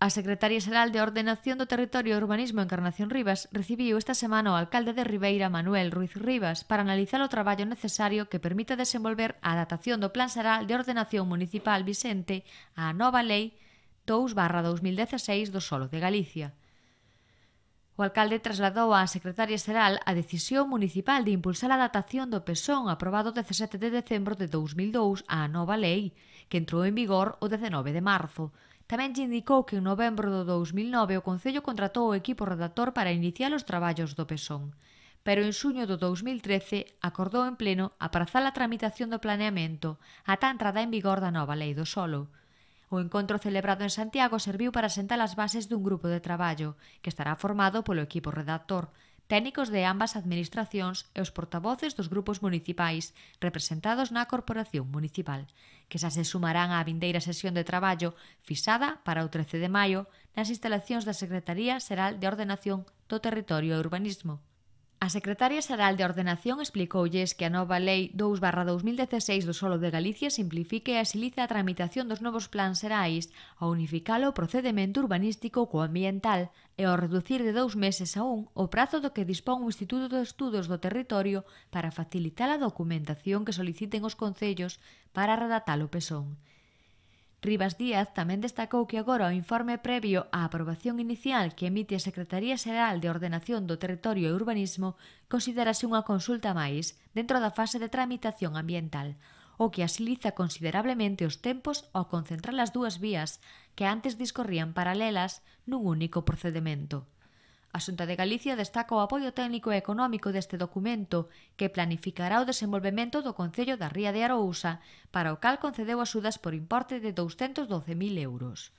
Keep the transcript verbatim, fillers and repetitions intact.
A Secretaria Xeral de Ordenación do Territorio e Urbanismo, Encarnación Rivas, recibiu esta semana o alcalde de Ribeira, Manuel Ruiz Rivas, para analizar o traballo necesario que permita desenvolver a adaptación do Plan Xeral de Ordenación Municipal vixente á nova Lei dous barra dos mil dieciséis do solo de Galicia. O alcalde trasladou á Secretaria Xeral a decisión municipal de impulsar a adaptación do PESON aprobado o dezasete de decembro de dous mil dous á nova lei, que entrou en vigor o dezenove de marzo. Tamén lle indicou que en novembro do dous mil nove o Concello contratou o equipo redactor para iniciar os traballos do PESON. Pero en xuño do dous mil trece acordou en pleno aprazar a tramitación do planeamento ata a entrada en vigor da nova lei do solo. O encontro celebrado en Santiago serviu para sentar as bases dun grupo de traballo que estará formado polo equipo redactor, técnicos de ambas administracións e os portavoces dos grupos municipais representados na Corporación Municipal, que xa se sumarán á vindeira sesión de traballo fixada para o trece de maio nas instalacións da Secretaría Xeral de Ordenación do Territorio e Urbanismo. A Secretaria Xeral de Ordenación explicoulles que a nova Lei dous barra dos mil dieciséis do solo de Galicia simplifica e axiliza a tramitación dos novos plans xerais ao unificar o procedemento urbanístico co ambiental e ao reducir de dous meses a un o prazo do que dispón o Instituto de Estudos do Territorio para facilitar a documentación que soliciten os concellos para redactar o PESON. Rivas Díaz tamén destacou que agora o informe previo á aprobación inicial que emite a Secretaría Xeral de Ordenación do Territorio e Urbanismo considerase unha consulta máis dentro da fase de tramitación ambiental, o que axiliza considerablemente os tempos ao concentrar as dúas vías que antes discorrían paralelas nun único procedemento. A Xunta de Galicia destaca o apoio técnico e económico deste documento que planificará o desenvolvemento do Concello da Ría de Arousa, para o cal concedeu axudas por importe de douscentos doce mil euros.